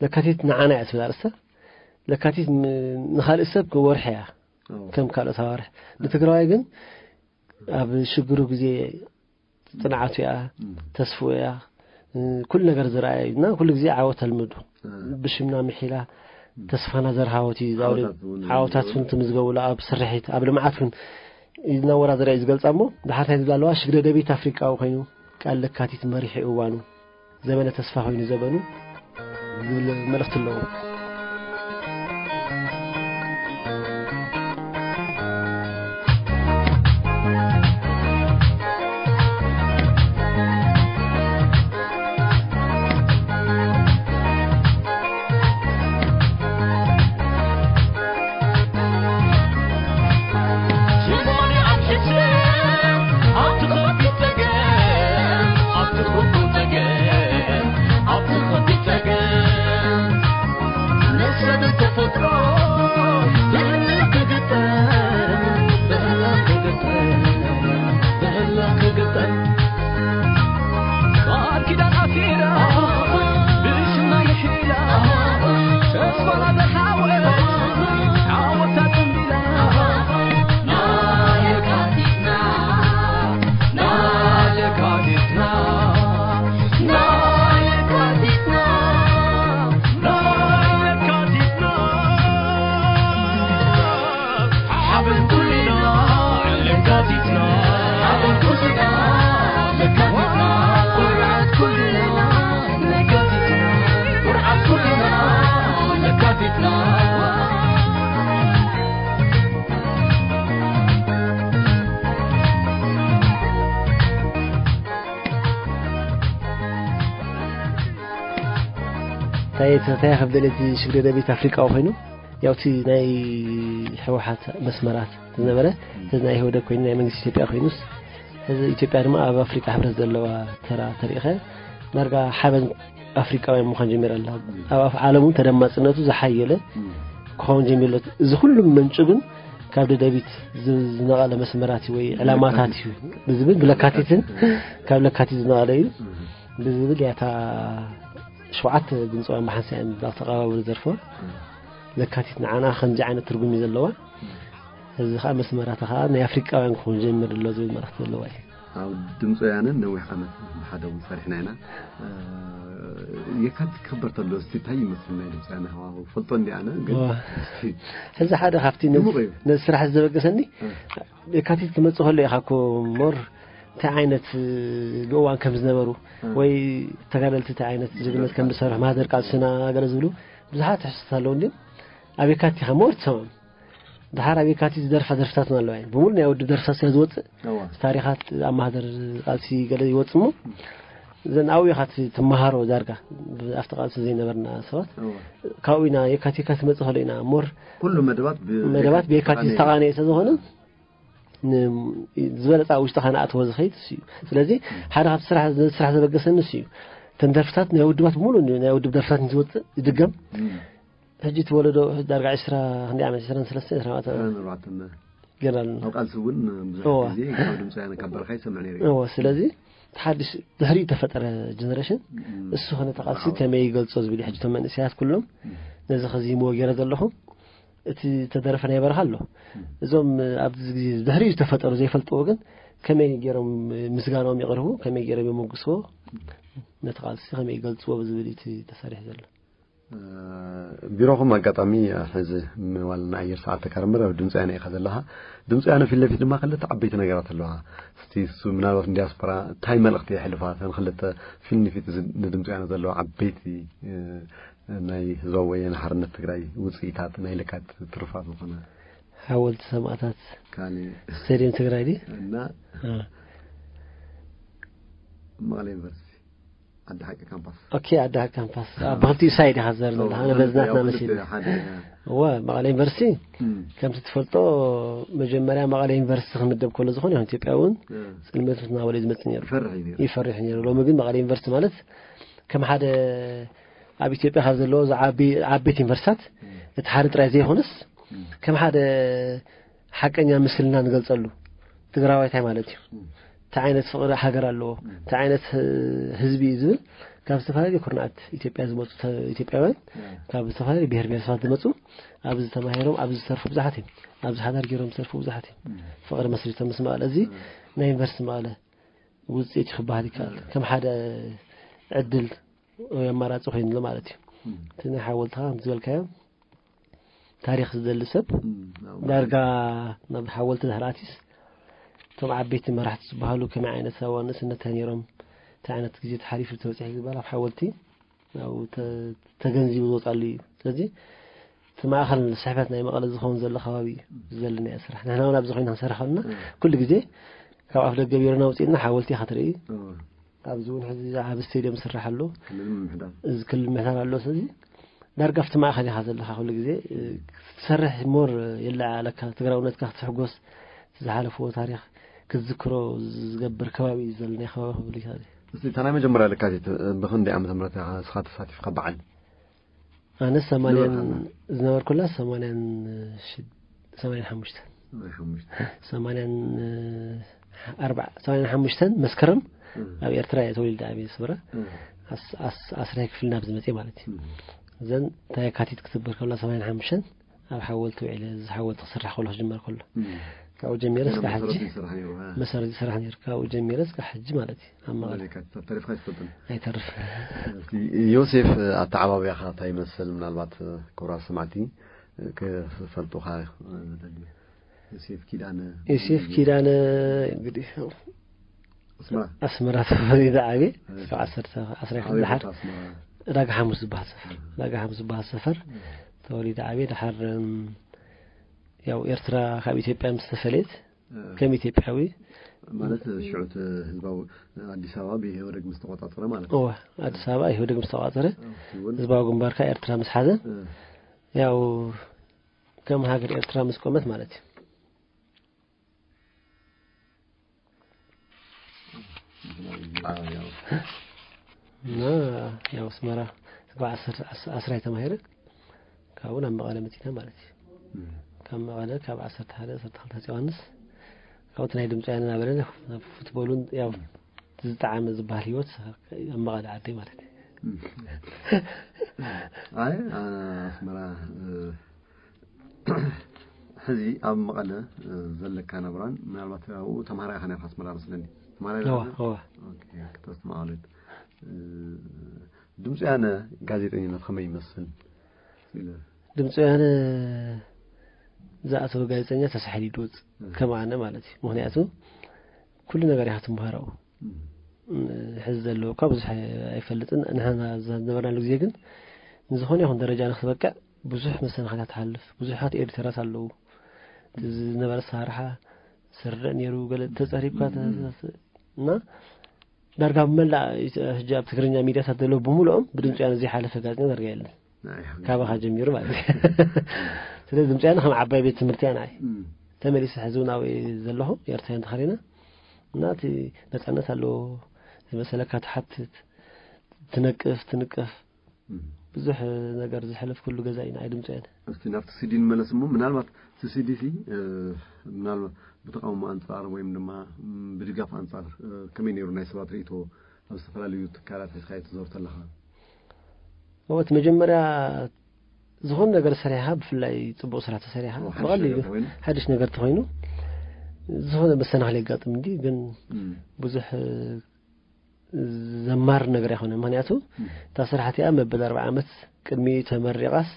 ለካቲት ንዓና እያ ትብል ኣርእስታ። ለካቲት ንኻልእ ሰብ ወርሒ እያ ከም ካልኦት ኣዋርሕ። ንትግራዋይ ግን ኣብ ሽግሩ ግዜ ፅንዓቱ እያ፣ ተስፍኡ እያ፣ ኩሉ ነገር ዝረኣየ እዩ እና ኩሉ ግዜ ዓወት ተልምዱ ብሽምና ምሒላ ተስፋና ዘርሃወት እዩ። ዓወታት እውን ትምዝገቡላ ኣብ ስርሒት ኣብ ልምዓት እውን እናወዳደረ እዩ ዝገልፃ እሞ ብሓታይ ዝብላ ኣለዋ ሽግረ ደቤት ኣፍሪቃዊ ኮይኑ ቃል ለካቲት መሪሒ እዋኑ ዘበነ ተስፋ ኮይኑ ዘበኑ ዝብል መልእኽቲ ኣለዎ። ናይ ተታይ ከብደለቲ ሽግረ ደቤት ኣፍሪቃ ኮይኑ፣ ያው እቲ ናይ ህወሓት መስመራት ዝነበረ፣ እዚ ናይ ህወደግ ኮይኑ፣ ናይ መንግስቲ ኢትዮጵያ ኮይኑስ፣ እዚ ኢትዮጵያ ድማ ኣብ ኣፍሪቃ ሕብረት ዘለዋ ተራ ተሪኸ፣ ዳርጋ ሓበን ኣፍሪቃውያን ምዃን ጀሚራ ኣላ። ኣብ ኣፍ ዓለሙ ተደማፅነቱ ዝሓየለ ክኸውን ጀሚሩ ኣሎ። እዚ ኩሉ ምንጩ ግን ካብ ደደቢት ዝ-፣ ዝነቐለ መስመራት ወይ ዕላማታት እዩ ብዝብል፣ ብለካቲትን ካብ ለካቲት ዝነቐለ እዩ ብዝብል ያታ ሸውዓተ ድምፂውያን ብሓንሳእ እዮም ኣብ ተቐባበሉ ዘርፍዋ። ለካቲት ንዓና ከምዚ ዓይነት ትርጉም እዩ ዘለዋ። እዚ ከዓ መስመራታ ከዓ ናይ ኣፍሪቃውያን ክኸውን ጀምር ኣሎ ዝብል መልእኽቲ ዘለዋ እዩ። ኣብ ድምፂ ወያነ ነዊሕ ዓመት ብሓደ እውን ሰሪሕና ኢና። እ፣ የካቲት ክኽበር ተሎ እስቲ እንታይ ይመስል ናይ ድምፂ ወያነ ሃዋህው? ፈልጦ እንዲ ኣነ ግን ዋ። እስቲ ሕዚ ሓደ ካብቲ ነዚ፣ ድሙቕ እዩ። ነዚ ስራሕ ዘበገሰኒ እ። የካቲት ክመፅእ ከሎ ኢኻ እኮ ሞር እንታይ ዓይነት፣ እ፣ ብእዋን ከም ዝነበሩ እ። ወይ ተጋደልቲ እንታይ ዓይነት ጅግነት ከም ዝሰርሑ፣ ማህደር ቃልስና ገለ ዝብሉ ብዙሓት ትሕዝቶታት ኣለዉ። እንዲም ኣብ የካቲት ኢኻ ሞር ትሰምዖም። ድሓር ኣብ የካቲት ዝደርፋ ደርፍታት እውን ኣለዋ እየን። ብምሉእ ናይ ውድብ ደርፍታት ስለ ዝወፅእ፣ እዋ። ታሪኻት ኣብ ማህደር ቃልሲ ገለ ይወፅእ እሞ፣ እዘን ኣብኡ ኢኻ ት-፣ ትመሃሮ ዳርጋ። ኣብቲ ቃልሲ ዘይነበርና ሰባት፣ እዋ። ካብኡ ኢና የካቲት፣ የካቲት መፅእ ከሎ ኢና ሞር ኩሉ መደባት ብ-፣ መደባት ብየካቲት ብየካቲት ዝተቓነየ ስለ ዝኾነ፣ ን-፣ ዝበለፀ ኣብ ውሽጥኻ ንኣትዎ ዝኸይድ እሱ እዩ። ስለዚ፣ ሓደ ካብቲ ስራሕ፣ ነዚ ስራሕ ዘበገሰኒ እሱ እዩ። እተን ደርፍታት ናይ ውድባት ብምሉእ ናይ ውድብ ደርፍታት እንትወፅእ ይድገም። እም። ሕጂ እቲ ወለዶ ዳርጋ ዕስራ ክንደይ ዓመት? ዕስራን ሰለስተን፣ ዕስራን ኣርባዕተን ዓመት። ዕስራን ኣርባዕተን። ገና ኣሎ። ኣብ ቃልሲ እውን ብዙሕ እዋ። ግዜ ካብ ድምፂ ወያነ ካብ በረኻ ይሰምዕ ነይሩ እዩ። እዋ፣ ስለዚ እቲ ሓድሽ ድሕሪኡ ተፈጠረ ጀነሬሽን እም። እሱ ኸነ ተቓልሲ ዝዓወተ። ከመይ ይገልጾ ዝብል እዩ። ሕጂ እቶም መንእሰያት ኩሎም እም። ነዚ ኸዚምዎ ገይረ ዘለኹ። እቲ ተደረፈ ናይ በረኻ ኣሎ። እም። እዞም ኣብዚ ግዜ ድሕሪኡ ዝተፈጠሩ ዘይፈልጥዎ ግን ከመይ ገይሮም ምስጋናኦም የቕርቡ፣ ከመይ ገይሮም የመጉስዎ፣ ነቲ ቃልሲ ከመይ ይገልጽዎ ብዝብል እዩ እቲ ተሰሪሑ ዘሎ። እ፣ ቢሮኹም ኣጋጣሚ፣ እ፣ ሕዚ ምዋል ንኣየር ሰዓት ተካርምር ኣብ ድምፂ ወያነ ኢኻ ዘለኻ። ድምፂ ወያነ ፊት ለፊት ድማ ክልተ ዓበይቲ ነገራት ኣለዋ። እስቲ እሱ ምናልባት ንዲያስፖራ እንታይ መልእኽቲ የሕልፋ? እተን ክልተ ፊት ንፊት እዚ ንድምፂ ወያነ ዘለዋ ዓበይቲ፣ እ፣ ናይ ህዝባዊ ወያነ ሓርነት ትግራይ ውፅኢታት ናይ ለካቲት ትሩፋት ዝኾነ ሓወልቲ ሰማእታት ካልእ ስቴድየም ትግራይ ድዩ? እና እ። መቐለ ዩኒቨርሲቲ። ዓዲ ሓቂ ካምፓስ። ኦኬ፣ ዓዲ ሓቂ ካምፓስ። ኣብ ብኽልቲኡ ሳይድ ኢኻ ትዛረብ ዘለኻ። ኣነ በዚ ናትና መሲሉ። ሓደ፣ እወ፣ መቐለ ዩኒቨርሲቲ፣ እም። ከምቲ ትፈልጦ፣ መጀመርያ መቐለ ዩኒቨርሲቲ ክምደብ ከሎ ዝኾነ ይኹን ኢትዮጵያዊ እውን እም። ጽልመት እናበለ እዩ ዝመጽእ ነይሩ። ይፈርሕ እዩ ነይሩ። ይፈርሕ እዩ ነይሩ። ሎሚ ግን መቐለ ዩኒቨርሲቲ ማለት ከም ሓደ ኣብ ኢትዮጵያ ካብ ዘለዎ ዝዓቢ-፣ ዓበይቲ ዩኒቨርሲታት እም። እቲ ሓደ ጥራይ ዘይኮነስ፣ እም። ከም ሓደ ሓቀኛ ምስልና ንገልጸሉ ትግራዋይ እንታይ ማለት እዩ? እም። እንታይ ዓይነት ፍቕሪ ሃገር ኣለዎ? እም። እንታይ ዓይነት፣ እ፣ ህዝቢ እዩ ዝብል ካብ ዝተፈላለዩ ኩርናዓት ኢትዮጵያ ዝመጹ ተ-፣ ኢትዮጵያውያን፣ እም። ካብ ዝተፈላለዩ ብሄር ብሄረሰባት ዝመጹ ኣብዚ ተማሂሮም ኣብዚ ዝሰርፉ ብዙሓት እዮም። ኣብዚ ሓዳር ገይሮም ዝሰርፉ ብዙሓት እዮም። እም። ፍቕሪ መስሪቶም ምስ መቐለ። እዚ እም። ናይ ዩኒቨርሲቲ መቐለ ውፅኢት እዩ ክበሃል ይከኣል። እም። ከም ሓደ ዕድል ወይ ኣማራፂ ኮይኑሉ ማለት እዩ። እም። እቲ ናይ ሓወልትኻ ከም ዝበልካዮ ታሪኽ ዝደሊ ሰብ እም፣ ኣብ ዳርጋ ናብ ሓወልቲ ድሕሪ ኣትዩስ፣ እቶም ዓበይቲ መራሕቲ ዝበሃሉ ከመይ ዓይነት ኣብ ንእስነት እንታይ ነይሮም፣ እንታይ ዓይነት ግዜ ተሓሊፉ ተበፂሑ ዝበሃል ኣብ ሓወልቲ ኣብኡ ተ-፣ ተገንዚቡ ዝወፃሉ እዩ። ስለዚ እቲ ማእኸል ስሕበት ናይ መቐለ ዝኸውን ዘሎ ከባቢ እዩ ዝደሊ ናይ ስራሕ። ንሕና እውን ኣብዚ ኮይና ክንሰርሕ ከለና እም። ኩሉ ግዜ ካብ ኣፍ ደገ ቢሮና ውፅኢና ሓወልቲ ኢኻ ትርኢ። እም። ኣብዚ እውን ሕዚ ዓቢ ስቴድየም ዝስራሕ ኣሎ። ክልል ምምሕዳር። እዚ ክልል ምምሕዳር ኣሎ። ስለዚ ዳርጋ ኣብቲ ማእኸል ኢኻ ዘለኻ ኩሉ ግዜ፣ እ፣ ክትሰርሕ ሞር የለዓዕለካ፣ ትግራውነትካ ክትሕጎስ፣ እቲ ዝሓለፍዎ ታሪኽ ክትዝክሮ ዝገብር ከባቢ እዩ ዘሎ፣ ናይ ከባቢ ክብል ይከኣል እዩ። እስቲ እታ ናይ መጀመርያ ለካቲት፣ እ፣ ብኽንደይ ዓመተ ምህረት ኢኻ ንስኻ ተሳቲፍካ በዓል? ኣነ ሰማንያን ንበርሃና። ዝነበርኩላ ሰማንያን ሽድ-፣ ሰማንያን ሓሙሽተን። ሰማንያን ሓሙሽተ። ሰማንያን ኣርባዓ፣ ሰማንያን ሓሙሽተን መስከረም እም። ኣብ ኤርትራ እየ ተወሊደ ዓብየ፣ ኣስመራ። እም። ኣስ-፣ ኣስ-፣ ኣስራይ ክፍሊ ናብ ዝመፅእ ማለት እዩ። እም። እዘን እታ የካቲት ክትበር ከላ ሰማንያን ሓሙሽተን ኣብ ሓወልቲ ውዒለ፣ እዚ ሓወልቲ ክስራሕ ከሎ ክጅመር ከሎ። እም። ካብኡ ጀሚረ ገና እስካብ መሰረት ሕጂ ይሰርሕ ነይሩ፣ እ። መሰረት ይሰርሕ ነይሩ። ካብኡ ጀሚረ እስካብ ሕጂ ማለት እዩ። ኣብ መቐለ። ማለት ካብ ተሪፍካ ኣይትፈልጥን? ኣይተርፍን። እስቲ ዮሴፍ፣ ኣተዓባብያኻ እንታይ ይመስል? ምናልባት ክቡራት ሰማዕቲ ክፈልጡኻ ዝደልዩ። ዮሴፍ ኪዳነ። ዮሴፍ ኪዳነ እንግዲህ ኣስመራ። ኣስመራ ተወሊደ ዓብየ። እሺ። እስካብ ዓሰርተ፣ ዓስራ ኣበይ ድሓር ቦታ ኣስመራ? ዳጋ ሓሙስ ዝበሃል ሰፈር። እህ። ዳጋ ሓሙስ ዝበሃል ሰፈር እህ። ተወሊደ ዓብየ። ድሓር፣ እም፣ ያው ኤርትራ ካብ ኢትዮጵያ ምስ ተፈለየት፣ እህ። ከም ኢትዮጵያዊ ማለት ሽዑ እቲ ህዝባዊ ኣዲስ ኣበባ ብኢህወደግ ምስ ተቆጻጸረ ማለት እወ፣ ኣዲስ ኣበባ ኢህወደግ ምስ ተቋጸረ፣ ኣብቲ እውን ህዝባዊ ግንባርካ ኤርትራ ምስ ሓዘ፣ እ፣ ያው ከም ሃገር ኤርትራ ምስ ቆመት ማለት እዩ። አ፣ ያው፣ እና ያው ኣስመራ ካብ ዓሰርተ ዓስ- ዓስራይ ተማሂረ ካብኡ ናብ መቐለ መፂና ማለት እዩ። እም፣ ካብ መቐለ ካብ ዓሰርተ ሓደ ዓሰርተ ክልተ ዮሃንስ ካብኡ ናይ ድምፂ ወያነ እናበለ ናብ ፉትቦሉን ያው ዝጠዓመ ዝበሃል ህይወት ኣብ መቐለ ዓደይ ማለት እዩ። እም። ኣይ፣ አ፣ ኣስመራ፣ እ፣ ሕዚ ኣብ መቐለ፣ እ፣ ዘለካ ናብራን ምናልባት ኣብኡ ተማሃራይ ኢኻ ነርካ ኣስመራ መስለኒ። ተማሃራይ እዋ ዲኻ? እዋ ኦኬ፣ ክተስተማቐሉት። እ፣ ድምፂ ወያነ ጋዜጠኝነት ከመይ ይመስል? ኢለ። ድምፂ ወያነ ዝኣተወ ጋዜጠኛ ተሳሒሉ ይድወፅ እ፣ ከም ኣነ ማለት እዩ። ምክንያቱ ኩሉ ነገር ኢኻ ትምሃሮ። እም፣ ሕዚ ዘለወካ ብዙሕ ኣይፈልጥን። ንሕና ዝነበርናሉ ግዜ ግን ንዝኾነ ይኹን ደረጃ ንክትበቅዕ ብዙሕ መሰናኽላት ትሓልፍ። ብዙሓት ኤዲተራት ኣለዉ። እቲ ዝነበረ ኣሰራርሓ ስርዕ ነይሩ፣ ገለ ተጸሪብካ ተ- ተ- እና ዳርጋ መላእ ሕጂ ኣብ ትግርኛ ሚድያታት ዘለዉ ብምልኦም ብድምፂ ወያነ ዘይሓለፈ ጋዜጠኛ ዳርጋ የለን። ናይ ሓቂ። ካባኻ ጀሚሩ ማለት እዩ። ስለዚ ድምፂ ወያነ ከም ዓባይ ቤት ትምህርቲ እያ ንዓይ። እም፣ ተመሊሰ ሕዚ እውን ኣብኡ ዘለኹ ኤርትራውያን ተኸሪና እና እቲ ነፃነት ኣለዎ ዝመሰለካ ትሓትት ትነቅፍ ትንቀፍ እም። ብዙሕ ነገር ዝሕለፍኩሉ ገዛ እዩ ንዓይ ድምፂ ወያነ። እስቲ ናብቲ ሲዲ ንመለስ እሞ ምናልባት እቲ ሲዲ ሲ እ፣ ምናልባት ብተቃውሞ ኣንጻር ወይም ድማ ም፣ ብድጋፍ ኣንጻር እ፣ ከመይ ነይሩ ናይ ሰባት ርእይቶ ኣብ ዝተፈላለዩ ትካላት ሒዝካ ትዞር ተለኻ? እወ እቲ መጀመርያ ዝኾነ ነገር ሰሪሓ ብፍላይ ፅቡቅ ስራሕ ተሰሪሓ እወ፣ ሓድሽ ብቐሊሉ ነገር ኮይኑ። ሓድሽ ነገር ተኾይኑ ዝኾነ መሰናኽል የጋጥም እንዲ ግን እም፣ ብዙሕ ዘማር ነገር ኣይኮነ። ምክንያቱ እም፣ እታ ስራሕ እቲኣ መበል ኣርባዓ ዓመት ቅድሚ ተመሪቓስ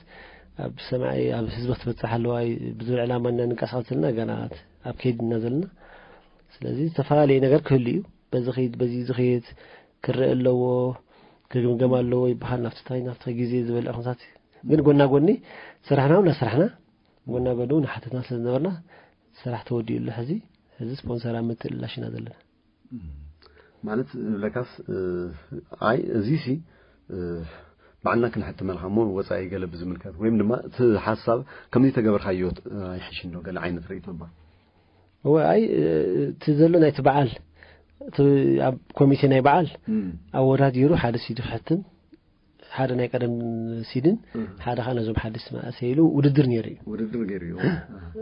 ኣብ ሰማይ ኣብ ህዝቢ ክትበፅሕ ኣለዋ። ብዙሕ ዕላማ እና ንንቀሳቐስ ዘለና ገና ኣብ ከይድና ዘለና። ስለዚ ዝተፈላለዩ ነገር ክህሉ እዩ። በዚ ኸይድ በዚ ዝኸይድ ክረአ ኣለዎ፣ ክግምገም ኣለዎ ይበሃል። ናብቲ ታይ ናብቲ ግዜ ዝበልዕ ኩነታት ግን ጎና ጎኒ ስራሕና እውን እናሰራሕና ጎና ጎኒ እውን ሓተትና ስለ ዝነበርና ስራሕ ተወዲኡ ኣሎ። ሕዚ ሕዚ ስፖንሰር ኣብ ምትእልላሽ ኢና ዘለና። እም። ማለት ለካስ እ፣ ኣይ እዚ ሲ እ፣ ባዕልና ክንሕትመልካ እሞ ወፃኢ ገለ ብዝምልከት ወይም ድማ እቲ ሓሳብ ከምዚ ተገበርካዮ እ፣ ኣይሕሽን ዶ ገለ ዓይነት ርእይቶ እባ? እወ ኣይ እ፣ እቲ ዘሎ ናይቲ በዓል እቲ ኣብ ኮሚቴ ናይ በዓል እም፣ ኣወዳዲሩ ሓደ ሲዲ ክሕትም ሓደ ናይ ቀደም ሲድን እም። ሓደ ከዓ ነዞም ሓደስቲ መእሰይ ኢሉ ውድድር ነይሩ እዩ። ውድድር ገይሩ እዩ።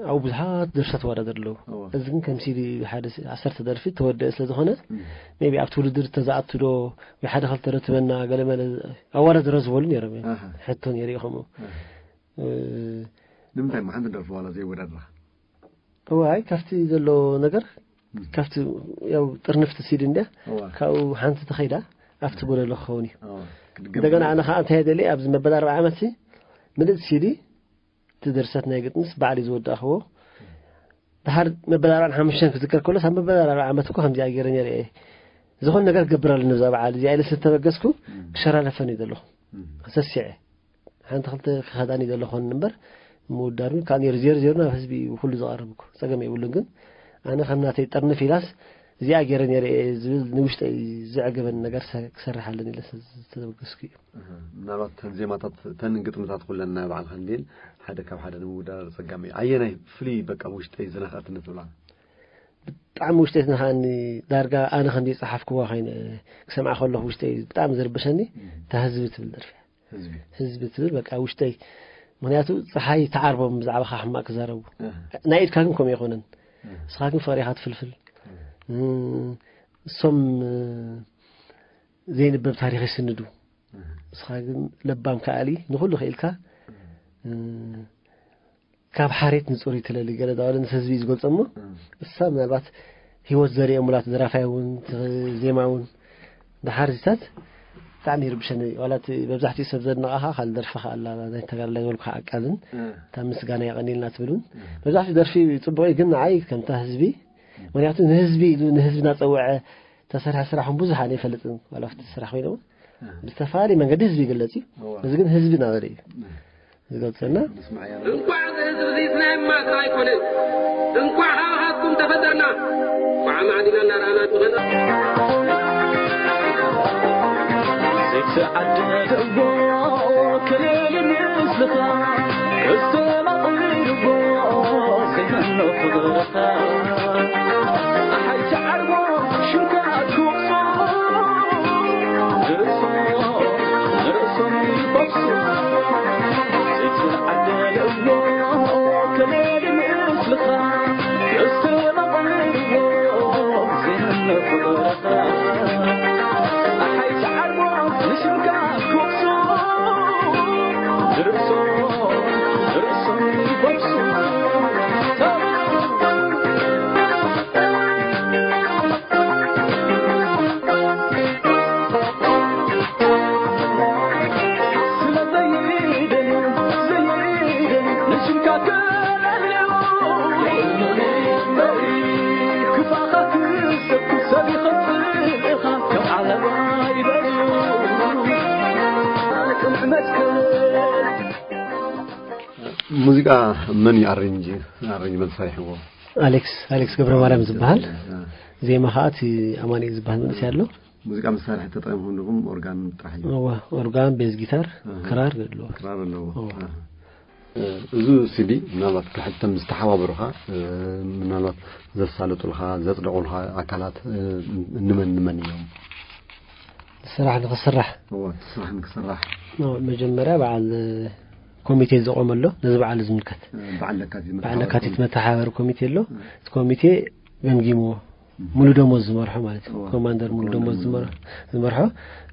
ኣብኡ ብዙሓት ደርፍታት ተወዳደር ኣለዉ። እወ። እዚ ግን ከም ሲዲ ሓደ ሲ- ዓሰርተ ደርፊ ተወደአ ስለ ዝኾነ እም፣ ሜቢ ኣብቲ ውድድር ተዝኣቱ ዶ ወይ ሓደ ክልተ ዶ ትበና ገለመለ ኣወዳድሮ ዝበሉ ነይሮም እዮም። ኣሃ፣ ሕቶ ነይሩ እዩ ከምኡ ኣሃ። እ፣ ንምንታይ እሞ ሓንቲ ደርፊ ዋላ ዘይወዳድራ? እዋይ ካብቲ ዘሎ ነገር እም፣ ካብቲ ያው ጥርንፍቲ ሲዲ እንድያ እወ፣ ካብኡ ሓንቲ ተኸይዳ ኣብቲ ጎደሎ ክኸውን እዩ። እወ፣ ክትገምት እንደገና ኣነ ከዓ እንታይ ደሊ ኣብዚ መበል ኣርባዓ ዓመት ምልእቲ ሲዲ እቲ ድርሰት ናይ ግጥምስ ባዕሊ ዝወዳእኽዎ ድሓር መበል ኣርባዓን ሓሙሽተን ክዝከር ከሎስ ኣብ መበል ኣርባዓ ዓመት እኮ ከምዚኣ ገይረ ነይረ እየ ዝኾነ ነገር ክገብር ኣለኒ ብዛ በዓል እዚኣ ኢለ ስለዝተበገስኩ እም፣ ክሸራረፈኒ ዘለኹ እም፣ ሰሲዐ ሓንቲ ክልተ ክኸዳኒ ዘለኹን እምበር ምውዳር ግን ካብ ነይሩ ዜሮ ዜሮ ናብ ህዝቢ እዩ ኩሉ ዝቐርብ እኮ ጸገም የብሉን። ግን ኣነ ከም ናተይ ጠርንፍ ኢላስ እዚኣ ገይረ ነይረ እየ ዝብል ንውሽጠይ ዘዕገበኒ ነገር ሰ- ክሰርሕ ኣለኒ ኢለ ዝተበገስኩ እዩ። ኣሃ። ምናልባት ተን ዜማታት ተን ግጥምታት ኩለን ናይ ባዕልካ እንዲል ሓደ ካብ ሓደ ንምውዳደር ጸጋሚ እዩ። ኣየናይ ፍልይ በቃ ውሽጠይ ዝነኸኣትኒ ትብላ? ብጣዕሚ ውሽጠይ ዝነኸኣኒ ዳርጋ ኣነ ከም ዝጸሓፍክዋ ኮይነ ክሰምዓ ከለኹ ውሽጠይ ብጣዕሚ ዝርብሸኒ እታ ህዝቢ ትብል ደርፊ እያ። ህዝቢ ህዝቢ ትብል በቃ ውሽጠይ ምክንያቱ ፀሓይ ተዓርቦም ብዛዕባኻ ሕማቅ ክዛረቡ ኣህ፣ ናይ ኢድካ ግን ከምኡ ኣይኮነን ኣህ፣ ንስኻ ግን ፈሪኻ ትፍልፍል ኣህ፣ እም፣ እሶም እ፣ ዘይንበብ ታሪኽ ይስንዱ ኣህ፣ ንስኻ ግን ለባም ከኣሊ ንኩሉ ክኢልካ እ፣ ካብ ሓሬት ንፁር ይትለሊ ገለ ዳበለ ምስ ህዝቢ እዩ ዝገልፆ እሞ ኣህ። እሳ ምናልባት ህይወት ዘሪኦሙላ እቲ ደራፋይ እውን እቲ ዜማ እውን ድሓር ዚታት ብጣዕሚ ይርብሸኒ ዋላ እቲ መብዛሕትኡ ሰብ ዘድንቓኻ ካልእ ደርፊ ከኣላ ናይ ተጋዳላይ ዝበልኩ ዓቃልን ኣህ፣ እታ ምስጋና የቐኒልና ትብል እውን መብዛሕትኡ ደርፊ ፅቡቕ እዩ ግን ንዓይ ከምታ ህዝቢ ምክንያቱ ንህዝቢ ኢሉ ንህዝቢ እናፀውዐ ተሰርሐ ስራሕ እውን ብዙሕ ኣነ ይፈልጥን ዋላ ኣብቲ ስራሕ ኮይነ እውን ብዝተፈላለየ መንገዲ ህዝቢ ይግለፅ እዩ እዚ ግን ህዝቢ እናበለ እዩ ዝገልፀና ንስማዕ እያ። እንኳዕ ዝህዝብ ዚት ናይ ማስና ኣይኮነን እንኳዕ ሃብሃብኩም ተፈጠርና እንኳዕ ማዕዲና እናረኣና ንኾና። ዘይተዓደልዎ ከለሊ ምስልኻ፣ እስተማቕልዎ ዘይመኖ ፍቕርኻ። ኣሓይ ተዓርቦ ሽምካ ክወቕሶ፣ ንርእሶ፣ ንርእሶም ይኸፍሱ። ዘይተዓደልዎ ከለሊ ምስልኻ፣ እስተማቕልዎ ዘይመኖ ፍቕርኻ። ኣሓይ ተዓርቦ ንሽምካ ክወቕሶ፣ ንርእሶ፣ ንርእሶም ይኸፍሱ። ሙዚቃ መን እዩ ኣሬንጅ ኣሬንጅመንት ሰሪሕዎ? ኣሌክስ ኣሌክስ ገብረ ማርያም ዝበሃል። ዜማ ከዓ እቲ ኣማኒኤል ዝበሃል መንእሰይ ኣሎ። ሙዚቃ መሳርሒ ተጠቂምኩም ዲኹም? ኦርጋን ጥራሕ እዩ? እወ፣ ኦርጋን፣ ቤዝ ጊታር፣ ኣሃ። ክራር ኣለዎ። ክራር ኣለዎ። እወ። ኣሃ። እ፣ እዚ ሲዲ ምናልባት ክሕተም ዝተሓባበሩኻ፣ እ፣ ምናልባት ዘሳለጡልካ፣ ዘጽደቑልካ ኣካላት፣ እ፣ እንመን እንመን እዮም? ስራሕ ንኽስራሕ እወ፣ ስራሕ ንክስራሕ። ኖ፣ መጀመርያ በዓል ኮሚቴ ዘቆመ ኣሎ፣ ነዚ በዓል ዝምልከት። እ፣ በዓል ለካቲት በዓል መተሓባበሪ ለካቲት ኮሚቴ። መተሓባበሪ ኮሚቴ ኣሎ። እቲ ኮሚቴ ገምጊምዎ። ሙሉ ደሞዝ ዝመርሖ ማለት እዩ። እወ። ኮማንደር ሙሉ ኮማንደር ደሞዝ ሙሉ ዝመርሖ ደሞዝ። ዝመርሖ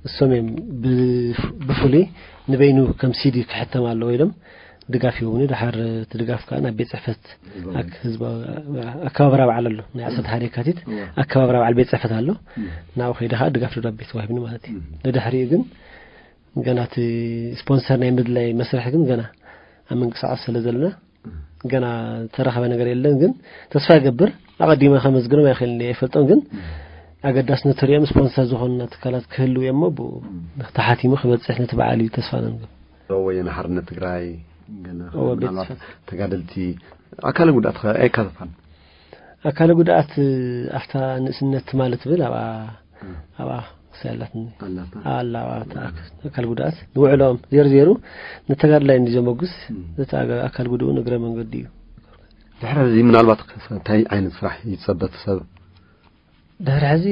እሶም እዮም ብፍ- ብፍሉይ ንበይኑ ከም ሲዲ ክሕተም ኣለዎ ኢሎም ድጋፍ ይህቡኒ። ድሓር እቲ ድጋፍ ከዓ ናብ ቤት ፅሕፈት ህዝባዊ። ኣክ- ህዝባዊ ኣከባብራ በዓል ኣሎ ናይ ዓሰርተ ሓደ የካቲት እወ። ኣከባብራ በዓል ቤት ፅሕፈት ኣሎ። እም። ናብኡ ከይደ ከዓ ድጋፍ ደብዳቤ ተዋሂብኒ ማለት እዩ። እም። ንድሕሪኡ ግን ገና እቲ ስፖንሰር ናይ ምድላይ መስርሕ ግን ገና ኣብ ምንቅስቃስ ስለ ዘለና ገና ዝተረኸበ ነገር የለን፣ ግን ተስፋ ይገብር። ኣቐዲመ ከመስግኖም ኣይኽእልን እየ፣ ኣይፈልጦም፣ ግን ኣገዳስነት ተሪኦም ስፖንሰር ዝኾኑና ትካላት ክህልው እዮም እሞ ብኡ ተሓቲሙ ክበፅሕ ነቲ በዓል እዩ ተስፋ ነንግብ። ወየነ ሓርነት ትግራይ ገለ እወ፣ ቤት ምናልባት ጽሕፈት። ተጋደልቲ ኣካለ ጉድኣት ከ ኣይካተታን? ኣካለ ጉድኣት ኣብታ ንእስነት ትማሊ ትብል ኣብኣ ኣብኣ ክሳይ ኣላትኒ ኣላታ ኣላ ኣብኣ ኣካል ጉድኣት ንውዕሎም ዜሩ ዜሩ ንተጋድላይ እንዲ ዘመጉስ እም። እቲ ኣጋ- ኣካል ጉድኡ ንእግረ መንገዲ እዩ። ድሕሪ እዚ ምናልባት ከ እንታይ ዓይነት ስራሕ ይጸበ እቲ ሰብ? ድሕሪ ሕዚ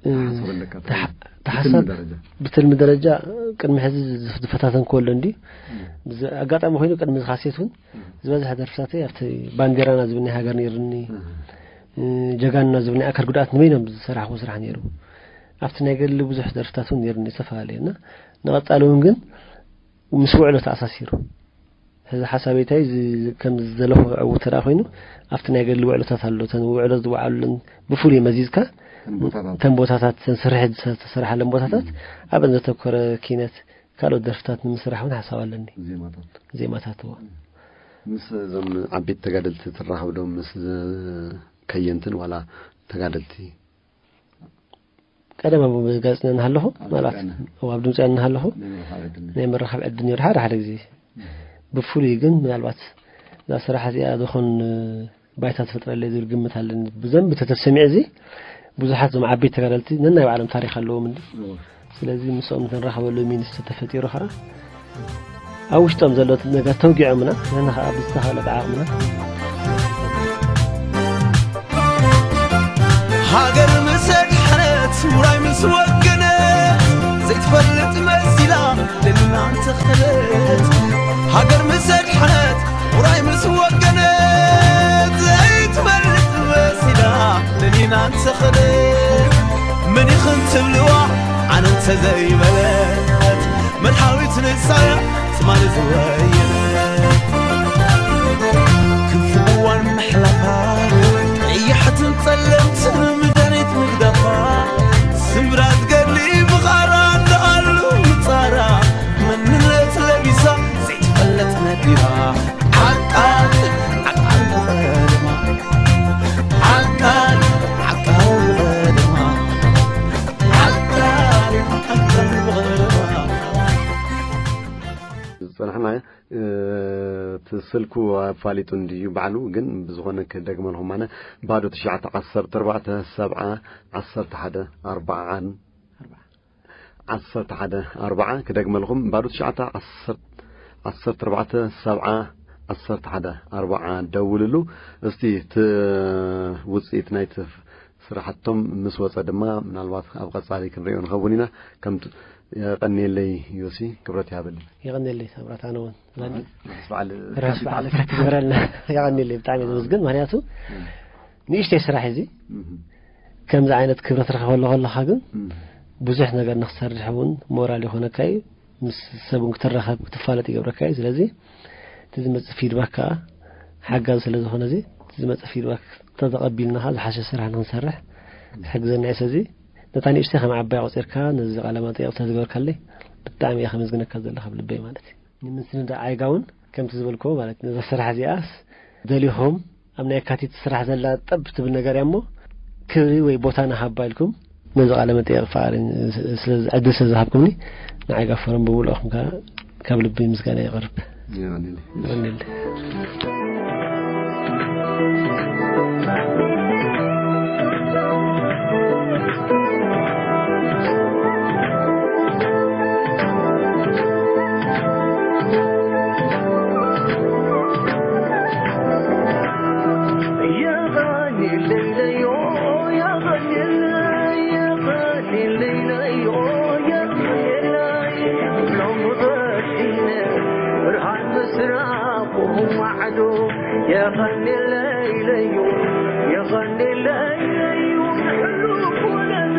እ፣ ተሓሰበለካ እንታይ ተሓ- እዩ? ተሓሳብ ብትልሚ ደረጃ። ብትልሚ ደረጃ ቅድሚ ሕዚ ዝፍ- ዝፈታተንክዎ ኣሎ እንዲ እም። ብዚ- ኣጋጣሚ ኮይኑ ቅድሚ እዚ ካሴት እውን እም። ዝበዝሐ ደርፍታተይ ኣብቲ ባንዴራና ዝብል ናይ ሃገር ነይሩኒ እም። እ፣ ጀጋኑና ዝብል ናይ ኣካል ጉድኣት ንበይኖም ዝሰራሕዎ ስራሕ ነይሩ። ኣብቲ ናይ ገድሊ ብዙሕ ደርፍታት እውን ነይሩኒ ዝተፈላለየ እና ንቐፃሊ እውን ግን ምስ ውዕሎ ተኣሳሲሩ ሕዚ ሓሳበይ እንታይ እዚ ከም ዝደለኹ ክዕውት ተደኣ ኮይኑ ኣብቲ ናይ ገድሊ ውዕሎታት ኣሎ እተን ውዕሎ ዝወዓሉለን ብፍሉይ መዚዝካ እተን ቦታታት። እተን ቦታታት እተን ስርሒት ዝተሰርሓለን ቦታታት ኣብአን ዘተኮረ ኪነት ካልኦት ደርፍታት ንምስራሕ እውን ሓሳብ ኣለኒ። ዜማታት። ዜማታት እዎ። ምስ እዞም ዓበይቲ ተጋደልቲ ትራኸብ ዶ ምስ ከየንትን ዋላ ተጋደልቲ? ቀደም ኣብ ጋዜጠኛ እናሃለኹ ኣብ ማለት ጋዜጠኛ። እዎ፣ ኣብ ድምፂ እናሃለኹ ናይ ምርኻብ ዕድል ናይ ምርኻብ ዕድል ነይሩ ሓደ ሓደ ግዜ። ብፍሉይ ግን ምናልባት እዛ ስራሕ እዚኣ ዝኾን ባይታ ትፈጥረለይ ዝብል ግምት ኣለኒ። ብዘንቢ ተተሰሚዐ እዚ ብዙሓት እዞም ዓበይቲ ተጋደልቲ ነናይ ባዕሎም ታሪክ ኣለዎም እንዲ። እዎ። ስለዚ ምስኦም ንራኸበሉ ሚንስ ተተፈጢሩ ከዓ ኣብ ውሽጦም ዘሎ ነገር ተውጊዖምና ንሕና ከዓ ብዝተኻለ ብዓቕምና ሃገር ምስ ኣድሓነት ውራይ ምስ ወገነ ዘይትፈልጥ መሲላ ደኒና እንተኸደት ሃገር ምስ ኣድሓነት ውራይ ምስ ወገነ ዘይትፈልጥ መሲላ ደኒና እንተኸደት መን ይኽን ትብልዋ ኣነ እንተዘይበለት መድሓዊት ንሳያ ትማሊ ዝወየነ ክፉእዋን ምሕላፋ ቀያሕትን ጸለምትን ምድሪት ምግዳፋ ስምብራት ገድሊ ብቓራ እንዳኣሉ ምጻራ መንነት ለቢሳ ዘይትፈለጥ ነዲራ ዓቃል ዓቃል ብቐደማ ዓቃል ዓቃል ብቐደማ ዓቃል ዓቃል ብቐደማ ጸናሕና። እቲ ስልኩ ኣፋሊጡ እንድዩ ባዕሉ፣ ግን ብዝኾነ ክደግመልኩም ኣነ። ባዶ ትሽዓተ ዓሰርተ ኣርባዕተ ሰብዓ ዓሰርተ ሓደ ኣርባዓን ዓሰርተ ሓደ ኣርባዓ። ክደግመልኩም፣ ባዶ ትሽዓተ ዓሰርተ ኣርባዕተ ሰብዓ ዓሰርተ ሓደ ኣርባዓ ደውልሉ። እስቲ እቲ ውጽኢት ናይቲ ስራሕቶም ምስ ወጸ ድማ ምናልባት ኣብ ቀጻሊ ክንሪኦ ንኸውን ኢና። ከም የቐንየለይ ዮሲ፣ ክብረት ይሃበለይ። የቐንየለይ ሳምራት፣ ኣነ እውን ርሑስ በዓል ርሑስ በዓል ፋሲካ ግበረልና። የቐንየለይ፣ ብጣዕሚ እየ ዝምስግን። ምክንያቱ ንእሽተይ ስራሕ እዚ ከምዚ ዓይነት ክብረት ረኸበሉ ከለኻ ግን ብዙሕ ነገር ንክትሰርሕ እውን ሞራል ይኾነካ እዩ። ምስ ሰብ እውን ክትራኸብ ክትፋለጥ ይገብረካ እዩ። ስለዚ እቲ ዝመፅእ ፊድባክ ከዓ ሓጋዝ ስለ ዝኾነ እዚ እቲ ዝመፅእ ፊድባክ ተተቐቢልና ከዓ ዝሓሸ ስራሕ ንክንሰርሕ ዝሕግዘና እዩ። ስለዚ ነታ ንእሽተይ ከም ዓባይ ቆፂርካ ነዚ ቃለ መጠይቕ ተዝገበርካለይ ብጣዕሚ እየ ከመስግነካ ዘለካ ካብ ልበይ ማለት እዩ። ንምስንዳ ዓይጋ እውን ከምቲ ዝበልክዎ ማለት እዩ፣ ነዛ ስራሕ እዚኣስ ደሊኹም ኣብ ናይ የካቲት ስራሕ ዘላ ጠብ ትብል ነገር እያ እሞ ክብሪ ወይ ቦታ ንሃባ ኢልኩም ነዚ ቃለ መጠየቕ ፍቓድ ስለ ዕድል ስለ ዝሃብኩምኒ ንዓይጋ ፎረም ብምልኦኹም ከ ካብ ልቢ ምስጋና የቕርብ። የቐንየለይ። የቐንየለይ ለዩ፣ የቐንየለይ ለዩ፣ ንሕሉፍ ወለዶ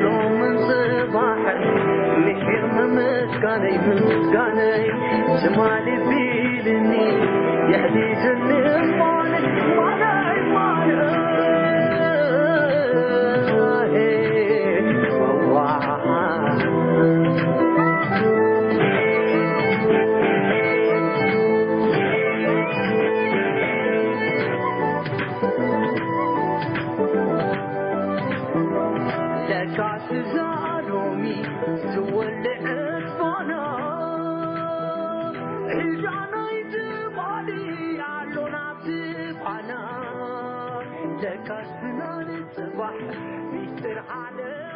ሎምን ጽባሕን ምሒር ምምስጋነይ፣ ምምስጋነይ ትማሊ ቢልኒ የሕዲስኒ እማን ማለይ ማለይ ዋዋ። ለካስ እዛ ሎሚ ትወልዕ ፋና ሒዛናይ ትማሊ ኣሎ ናብቲ ፋና። ለካስ ብናን ጽባሕ ሚስጥር ዓለም